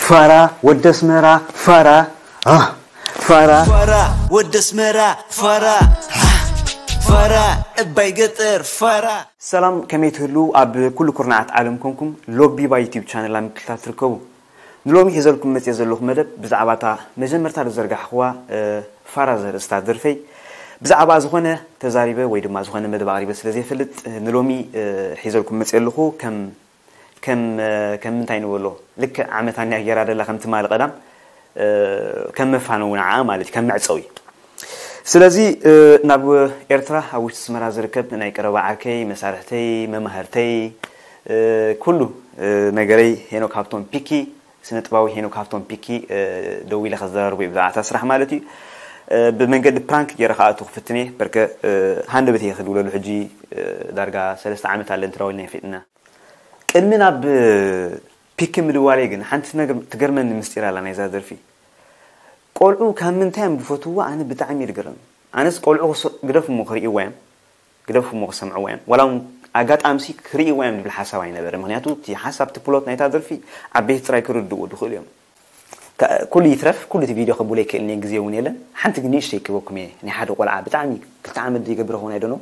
ፋራ ወደ ኣስመራ ፋራ ፋራ ፋራ ወደ ኣስመራ ፋራ ፋራ እባይ ገጠር ፋራ ሰላም ከመይ ትህሉ ኣብ ኩሉ ኩርናዓት ዓለም ኮንኩም ሎቢባ ዩቲብ ቻነል ኣብ ምክትታል ትርከቡ ንሎሚ ሒዘልኩም መፅየ ዘለኹ መደብ ብዛዕባ እታ መጀመርታ ዝዘርጋሕኽዋ ፋራ ዘርእስታ ደርፈይ ብዛዕባ ዝኾነ ተዛሪበ ወይ ድማ ዝኾነ መደብ ኣቕሪበ ስለ ዘይፈልጥ ንሎሚ ሒዘልኩም መፅየ ኣለኹ ከም ከም ከም ምንታይ ንበሎ ልክዕ ዓመት ኣንያ ገይራ ደላ ከም ትማሊ ቀዳም ከም መፋነዊ ንዓ ማለት እዩ ከም መዕፀዊ ስለዚ ናብ ኤርትራ ኣብ ውሽጢ ኣስመራ ዝርከብ ናይ ቀረባ ዓርከይ መሳርሕተይ መማህርተይ ኩሉ ነገረይ ሄኖክ ሃብቶም ፒኪ ስነ ጥባዊ ሄኖክ ሃብቶም ፒኪ ደዊለ ከዘራርቦ እዩ ብዛዕባ እታ ስራሕ ማለት እዩ ብመንገዲ ፕራንክ ገይረ ከኣቱ ክፍትን እየ በርከ ሃንደበት እየ ክድውለሉ ሕጂ ዳርጋ ሰለስተ ዓመት ኣለን ተዳዊልና ይፍጥና ቅድሚ ናብ ፒክ ምድዋለይ ግን ሓንቲ ነገር ትገርመኒ ምስጢር ኣላ ናይዛ ደርፊ። ቆልዑ ካብ ምንታይ እዮም ዝፈትውዋ ኣነ ብጣዕሚ እየ ዝግረም። ኣነስ ቆልዑ ግደፍ እሞ ክርእይዋ እዮም ግደፍ እሞ ክሰምዕዋ እዮም ዋላ እውን ኣጋጣምሲ ክርእይዋ እዮም ዝብል ሓሳብ ኣይነበረ ምክንያቱ እቲ ሓሳብ እቲ ፕሎት ናይታ ደርፊ ዓበይቲ ጥራይ ክርድእዎ ዝኽእሉ እዮም። ኩሉ ይትረፍ ኩሉ እቲ ቪድዮ ከብሎ ይክእልኒ ግዜ እውን የለን ሓንቲ ግን ንእሽተይ ክበኩም እየ ናይ ሓደ ቆልዓ ብጣዕሚ ክልተ ዓመት ዘይገብረ ኸውን ኣይደኖ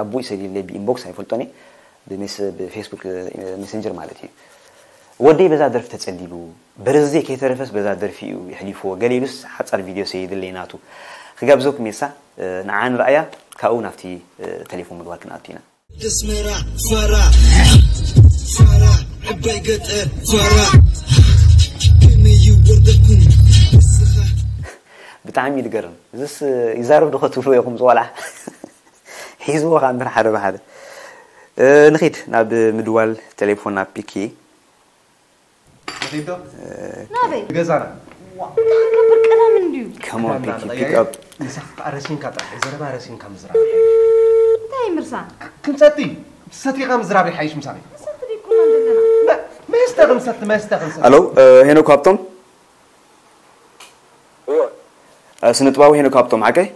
ኣቦኡ ይሰድየለይ ብኢንቦክስ ኣይፈልጦን እየ ብፌስቡክ ሜሰንጀር ማለት እዩ ወደይ በዛ ደርፊ ተፀሊሉ በረዝዜ ከይተረፈስ በዛ ደርፊ እዩ የሕሊፍዎ ገለ ኢሉስ ሓፃር ቪድዮ ሰይድለይ ናቱ ክጋብዘኩም እየ እሳ ንዓ ንረኣያ ካብኡ ናብቲ ተሌፎን ምድዋል ክንኣቱ ኢና ኣስመራ ፋራ ፋራ ዕባይ ገጠር ፋራ ከመይ ይወርደኩም ንስኻ ብጣዕሚ እዩ ዝገርም እዚስ ይዛረብ ዶ ከትብልዎ ኢኹም ዝቆልዓ ሒዝዎ ከኣ እምበር ሓደ ብሓደ ንኺድ ናብ ምድዋል ቴሌፎን ናብ ፒኪ ንኺዶ ናበይ ገዛና እንታይ ክገብር ቀዳም እንድዩ Come on ፒኪ pick up ምሳኻ ረሲንካ ጥራሕ ዘረባ ረሲንካ ምዝራብ እንታይ ምርሳ ክንሰቲ ሰቲኻ ምዝራብ ይሓይሽ ምሳኺ ሰቲ ደይኮና ዘለና መስተ ክንሰቲ መስተ ክንሰቲ ኣሎ ሄኖክ ሃብቶም ስነ ጥባዊ ሄኖክ ሃብቶም ሓቀይ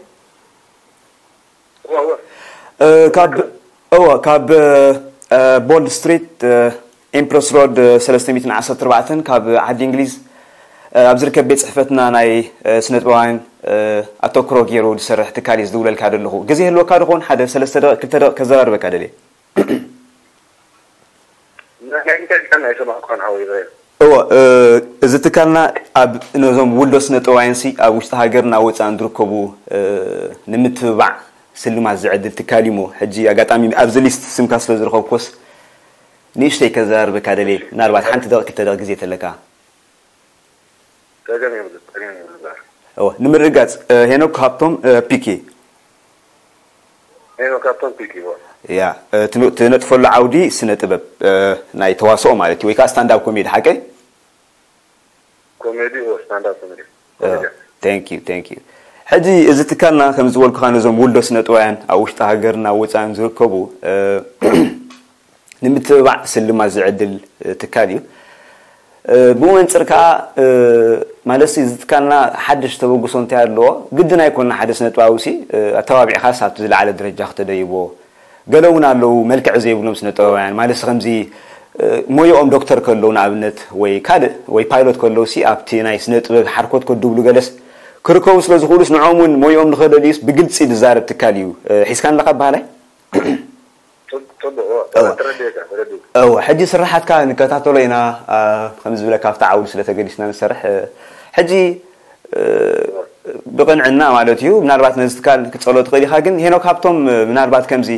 ካብ እወ ካብ ቦንድ ስትሪት ኤምፕረስ ሮድ ሰለስተ ሚእትን ዓሰርተ ኣርባዕተን ካብ ዓዲ እንግሊዝ ኣብ ዝርከብ ቤት ፅሕፈትና ናይ ስነጥበባውያን ኣተክሮ ገይሩ ዝሰርሕ ትካል እዩ ዝድውለልካ ዘለኹ ግዜ ህልወካ ድኾን ሓደ ሰለስተ ደቂ ክልተ ደቂ ከዘራርበካ ደልየ እወ እዚ ትካልና ኣብ ነዞም ውልዶ ስነ ጠዋይንሲ ኣብ ውሽጢ ሃገርና ወፃእን ዝርከቡ ንምትብባዕ ስልማት ዝዕድል ትካል እዩሞ ሕጂ ኣጋጣሚ ኣብዚ ሊስት ስምካ ስለ ዝረኸብኮስ ንእሽተይ ከዘራርበካ ደልየ ምናልባት ሓንቲ ደቂ ክልተ ደቂ ግዜ ተለካ ጸገም የብሉን ጸገም የብሉን እወ ንምርግጋጽ ሄኖክ ሃብቶም ፒኬ ሄኖክ ሃብቶም ፒኬ እወ ያ ትነጥፈሉ ዓውዲ ስነ ጥበብ ናይ ተዋስኦ ማለት እዩ ወይ ከዓ ስታንዳብ ኮሜዲ ሓቀይ ኮሜዲ እወ ስታንዳብ ኮሜዲ thank you thank you ሕጂ እዚ ትካልና ከም ዝበልኩኻ ነዞም ውልዶ ስነ ጥዋያን ኣብ ውሽጢ ሃገርና ወፃእን ዝርከቡ ንምትብባዕ ስልማት ዝዕድል ትካል እዩ። ብኡ መንፅር ከዓ ማለትሲ እዚ ትካልና ሓድሽ ተበግሶ እንታይ ኣለዎ? ግድን ኣይኮንና ሓደ ስነ ጥበባዊ ሲ ኣተባቢዕካስ ኣብቲ ዝለዓለ ደረጃ ክተደይቦ። ገለ እውን ኣለዉ መልክዕ ዘይብሎም ስነ ጥበባውያን ማለትሲ ከምዚ ሞያኦም ዶክተር ከለዉ ንኣብነት ወይ ካልእ ወይ ፓይሎት ከለዉ ሲ ኣብቲ ናይ ስነ ጥበብ ሓርኮት ከድብሉ ገለስ ክርከቡ ስለ ዝኽእሉስ ንዕኦም እውን ሞያኦም ንኸደልዩስ ብግልፂ ዝዛረብ ትካል እዩ። ሒዝካኒ ኣለኻ በሃላይ? እወ ሕጂ ስራሓትካ ንከታተሎ ኢና ከም ዝብለካ ኣብቲ ዓውዲ ስለ ተገዲስና ንሰርሕ ሕጂ ብቕንዕና ማለት እዩ ምናልባት ነዚ ትካል ክትፀሎ ትኽእል ኢኻ ግን ሄኖክ ሃብቶም ምናልባት ከምዚ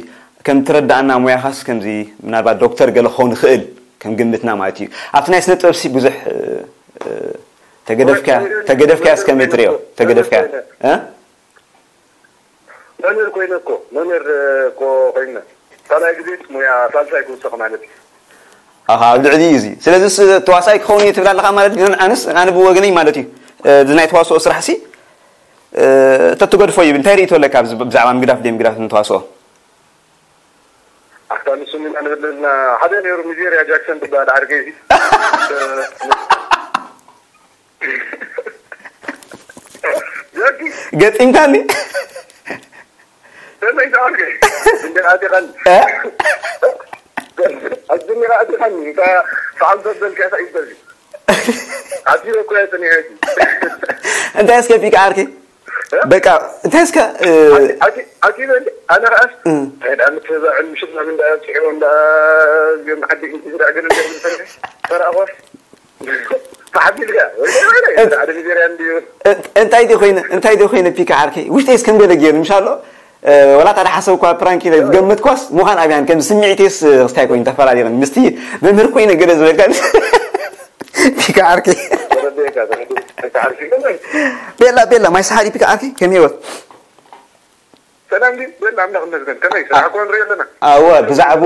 ከም ትረዳእና ሙያኻስ ከምዚ ምናልባት ዶክተር ገለ ክኸውን ይኽእል ከም ግምትና ማለት እዩ ኣብቲ ናይ ስነ ጥበብ ሲ ብዙሕ ተገደፍካያ ተገደፍካያ እስከመይ ትሪኦ ተገደፍካያ መምህር ኮይነ እኮ መምህር እኮ ኮይነ ካልኣይ ግዜ ሙያ ሳልሳይ ክውሰኽ ማለት እዩ ኣኻ ኣብ ልዕሊ እዩ እዚ ስለዚ ተዋሳይ ክኸውን እየ ትብል ኣለኻ ማለት ግን ኣነስ ኣነ ብወገነይ ማለት እዩ እዚ ናይ ተዋስኦ ስራሕ ሲ ተትገድፎ ይብል እንታይ ርእቶ ኣለካ ብዛዕባ ምግዳፍ ደይ ምግዳፍ ንተዋስኦ ኣታ ንሱ ኢና ንብልና ሓደ ነይሩ ሚዜርያ ጃክሰን ትበሃል ዓርከይ ገጢምካኒ ሰመይ ተዓርከይ እንደ ኣቲኻኒ ኣዝሚራ ኣቲኻኒ ሰዓም ዘበልካ ኢኻ ኢበዚ ኣትዩ እኮ እየ ጸኒሐ። እንታይ እስከ ፒካ ዓርከይ በቃ እንታይ እስከ ኣቲ በል ኣነ ከኣስ እንታይ ደኣ ምትህዛዕን ምሽት ናምን ደኣ ኣብፅሕዎም ደኣ እዚኦም ዓዲ ኢንትዝራዕ ገለ ገለ ዝሰርሕ ተራእኾ ተሓቢልካ ወደ ሓደ ሚዜርያ እንድዩ እንታይ ዲ ኮይነ እንታይ ዲ ኮይነ ፒካ ዓርከይ ውሽጠይ እስከም ገለ ገይሩ ምሻሎ ወላ ታደ ሓሰብ እኳ ፕራንክ ኢለ ዝገመትኳስ ምዃን ኣብያን ከም ስምዒቴስ ክስታይ ኮይኑ ተፈላለየን ምስቲ መምህር ኮይነ ገለ ዝበልካ ፒካ ዓርከይ ተረዲእካ ተረዲእካ ዓርኪ ቤላ ቤላ ማይ ሰሓሪ ፒካ ዓርከይ ከመይ ወት ሰላም ድዩ? በል ኣምላኽ ይመስገን። ከመይ ስራሕ እኮ ንርኢ ኣለና። ኣወ ብዛዕቡ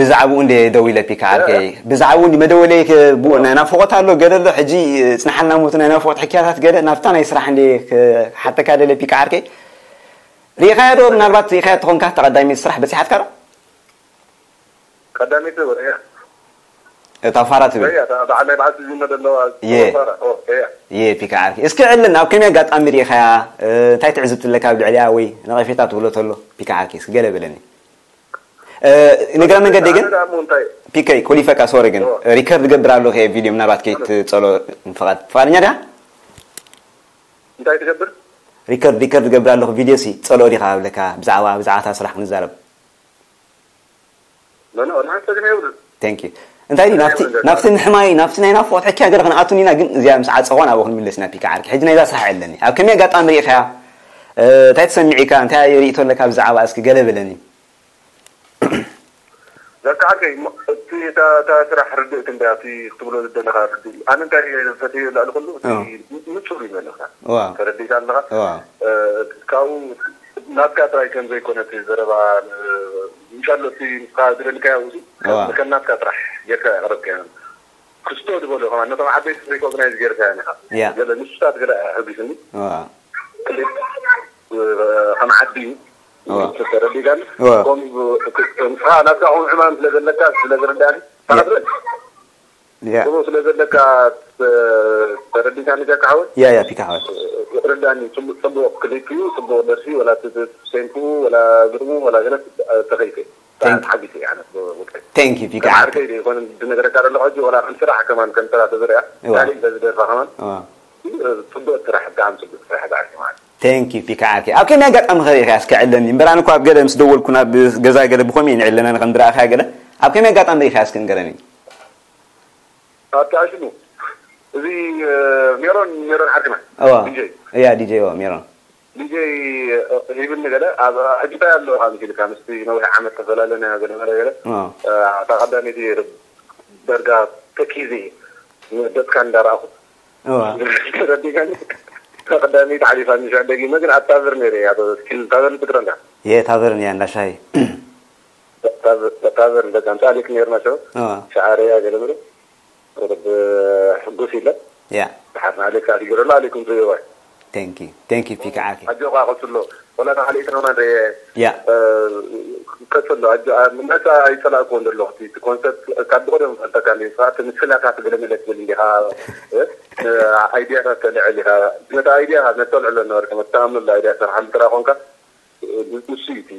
ብዛዕቡ እንደ ደው ኢለ ፒካ ዓርከይ ብዛዕቡ እንዲ መደወለይ ብኡ ናይ ናፍቆት ኣሎ ገለ ኣሎ ሕጂ ጽናሓልና ሞት ናይ ናፍቆት ሕክያታት ገለ ናብታ ናይ ስራሕ እንደ ሓተካ ደለ ፒካ ዓርከይ ሪኢኻዮ ዶ ምናልባት ሪኢኻዮ ተኾንካ ተቐዳሚት ስራሕ በጺሓትካ ዶ? ቀዳሚት ወደ እታ ፋራ ትብል በዓል ናይ በዓል ትዝመ ዘለዋ የ የ ፒካ ዓርኪ እስኪ ዕልን ኣብ ከመይ ኣጋጣሚ ሪኢኻያ እንታይ ትዕዝብቲ ኣለካ ኣብ ልዕሊያ ወይ ነቐፌታ ትብሎ ተሎ ፒካ ዓርኪ እስኪ ገለ በለኒ ንግረ መንገዲ ግን ፒከይ ኮሊፈካ ሶሪ ግን ሪከርድ ገብር ኣለኹ የ ቪድዮ ምናልባት ከይትፀሎ ፍቓድ ፍቓደኛ ዲኻ እንታይ ትገብር ሪከርድ ሪከርድ ገብር ኣለኹ ቪድዮ ሲ ፀሎ ዲኻ ብለካ ብዛዕባ ብዛዕባታ ስራሕ ክንዛረብ ኖ ኖ ንሓሰብ የብሉን Thank you እንታይ ድዩ ናብቲ ናብቲ ምሕማይ ናብቲ ናይ ናፍቆት ሕክያ ገለ ክንኣቱን ኢና ግን እዚኣ ምስ ዓፀኾ ናብኡ ክንምለስ ኢና ፒካ ዓርኪ ሕጂ ናይዛ ስራሕ ኣለኒ ኣብ ከመይ ኣጋጣሚ ርኢኻያ እንታይ ተሰሚዒካ እንታይ ርእቶ ኣለካ ብዛዕባ እስኪ ገለ በለኒ ዘካ ዓርከይ እቲ እታ ስራሕ ርድእቲ እንዳ እቲ ክትብሎ ዝደለኻ ርድእ ኣነ እንታይ ፈትዮ ላዕሊ ኩሉ ንፁር እዩ ዘለካ ተረዲእካ ኣለኻ ካብኡ ናትካ ጥራይ ከም ዘይኮነ እቲ ዘረባ ምሻሎ እቲ ንስኻ ዝደልካዮ ውሲ ከም ናትካ ጥራሕ ጌርካ ያቕረብካዮ ክስቶ ዝበሎ ከማን ነቶም ዓበይቲ ሪኮግናይዝ ጌርካዮ ኢኻ ገለ ንሱታት ገለ ኣሕጒስኒ ክሊፕ ከም ዓዲ ተረዲእካኒ ከምኡ ንስኻ ናትካ ከምኡ ዕማም ስለ ዘለካ ስለ ዝርዳእኒ ተዓብረን ያ ጽቡቕ ስለ ዘለካ ተረዲእካኒ ጃካ ሓወይ ያ ያ ፒካ ሓወይ ርዳኒ ጽቡቕ ክሊፕ እዩ ጽቡቕ ደርፊ ወላ ሴንቱ ወላ ግጥሙ ወላ ገለ ተኸይፈ ተሓጊሰ እየ ኣነ Thank you ፒካ ዓርከይ ዘይኮነ ዝነገረካ ዘለኹ ሕጂ ወላ ከም ስራሕ ከማን ከም ስራሕ ተዝርያ ካልእ በዚ ደርፋ ከማን ጽቡቕ ስራሕ ብጣዕሚ ጽቡቕ ስራሕ ዳዓርከ ማለት Thank you ፒካ ዓርከይ ኣብ ከመይ ኣጋጣሚ ከሪእካ እስከ ዕለኒ እምበር ኣነ እኮ ኣብ ገለ ምስ ደወልኩ ናብ ገዛ ገለ ብኸምኡ እየ ንዕለና ንኸም ድረኣኻያ ገለ ኣብ ከመይ ኣጋጣሚ ርኢኻ እስከ ንገረኒ ኣብቲ ኣሽሙ እዚ ሜሮን ሜሮን ዓርክና እዋ ዲጀይ እያ ዲጀይ እዋ ሜሮን ዲጀይ ሂብኒ ገለ ኣብ ሕጂ እንታይ ኣለዎ ካብ ኢልካ ምስቲ ነዊሕ ዓመት ተፈላለና ገለ መለ ገለ እዋ እታ ቀዳመይቲ ዳርጋ ተኪዘ ደስካ እንዳረኣኹ እዋ ተረዲእካኒ እታ ቀዳመይቲ ሓሊፋ ንሻዕ ደጊመ ግን ኣብ ታቨር ነይረ እያ ስኪል ታቨር ትግረና የ ታቨርን እያ እንዳሻሂ ታቨር ደቂ ኣምሳሌክ ነይርና ሸው እዋ ሸዓርያ ገለ መለ ቁርብ ሕጉስ ኢለ ያ ድሓር ንኣሌክ ኣዲገረሉ ኣሌኩም ትሪእዋይ Thank you thank you ፒካ ዓርከይ ኣጆኻ ቀጽሎ ወላ ተኻሊእትና ማን ርየ ያ ቀጽሎ ነፃ ኣይጸላእክዎ እንደለኹ እቲ ኮንሰርት ካብ ብቀደም ፈልጠካ እንዲ ስኻ እቲ ምስላታት ገለ መለ ትብል እንዲኻ ኣይዲያታት ተልዕል ኢኻ ነቲ ኣይዲያ ነተልዕሎ ነበርካ መተኣምነሉ ኣይዲያ ስራሕ ምጥራ ኮንካ ንሱ እዩ እቲ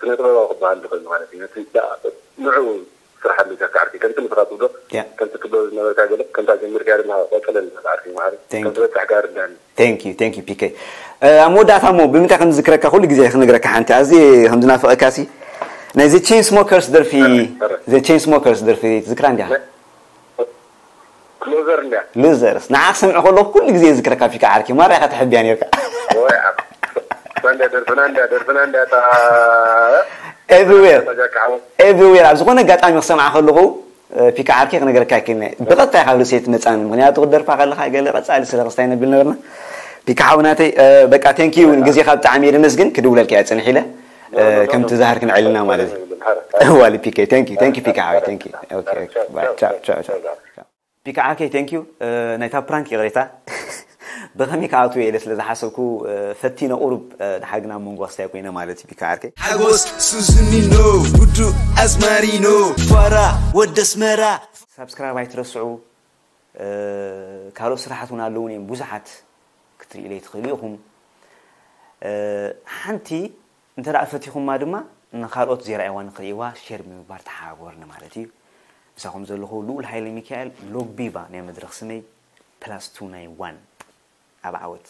ስነ ጥበባዊ ክበሃል ዝኽእል ማለት እዩ ነቲ ንዑ ስራሕ ኣሊካ ካዕርፊ ከምቲ ንስኻ ትብሎ ከምቲ ትብሎ ዝነበርካ ገለ ከምታ ጀሚርካ ድማ ቆጸለል ካዕርፊ ማለት ከም ዝበጽሕ ጋር ዳኒ Thank you thank you ፒከይ ኣብ መወዳእታ እሞ ብምንታይ ከም ዝዝክረካ ኩሉ ግዜ ክነግረካ ሓንቲ ኣዝየ ከም ዝናፍቐካ ሲ ናይ ዘ ቼን ስሞከርስ ደርፊ ዘ ቼን ስሞከርስ ደርፊ ትዝክራ እንዲኻ ክሎዘር እንድያ ሉዘርስ ንዓ ክሰምዕ ከለኹ ኩሉ ግዜ ዝዝክረካ ፊካ ዓርኪ ማራ ኢኻ ትሕብያ ነርካ ወይ ዓብ ፈንዳ ደርፍና እንዳ ደርፍና እንዳ ታ everywhere ተጃካ ዓው everywhere ኣብ ዝኾነ ኣጋጣሚ ክሰምዓ ከለኹ እ፣ ፊካ ዓርኪ ክነግረካ ይክእልኒ ብቐጥታ ካብ ርእሰይ ትመፃኒ ምክንያቱ ክደርፋ ከለካ ገለ ቀፃሊ ስለ ክስታይ ነብል ነበርና ፊካ ሓውናተይ እ፣ በቃ thank you ግዜካ ብጣዕሚ እየ ደመስግን ክድውለልካ እየ ፅንሕ ኢለ እ፣ ከምቲ ዛህር ክንዕልና ማለት እዩ ዋሊ ፒከ thank you thank you ፊካ ሓወይ thank you okay okay bye ciao ciao ciao ፒካ ዓርከይ thank you ናይታ ፕራንክ ይቕሬታ ብኸመይ ክኣትዎ ኢለ ስለ ዝሓሰብኩ ፈቲነ ቁሩብ ድሓር ግን ኣብ መንጎ ክስታይ ኮይነ ማለት እዩ ፒካ ዓርከይ ሓጎስ ሱዝኒኖ ውዱ ኣዝማሪኖ ፋራ ወደ ኣስመራ ሳብስክራይብ ኣይትረስዑ ካልኦት ስራሓት እውን ኣለውን እዮም ብዙሓት ክትርእዩለይ ትኽእሉ ኢኹም ሓንቲ እንተ ደኣ ፈቲኹማ ድማ ንኻልኦት ዘይረኣይዋ ንክርእይዋ ሼር ብምግባር ተሓባበሩኒ ማለት እዩ ምሳኹም ዘለኹ ልኡል ሃይለ ሚካኤል፣ ሎግ ቢቫ ናይ መድረኽ ስመይ፣ ፕላስ ቱ ናይ ዋን። ኣብ ዓወት።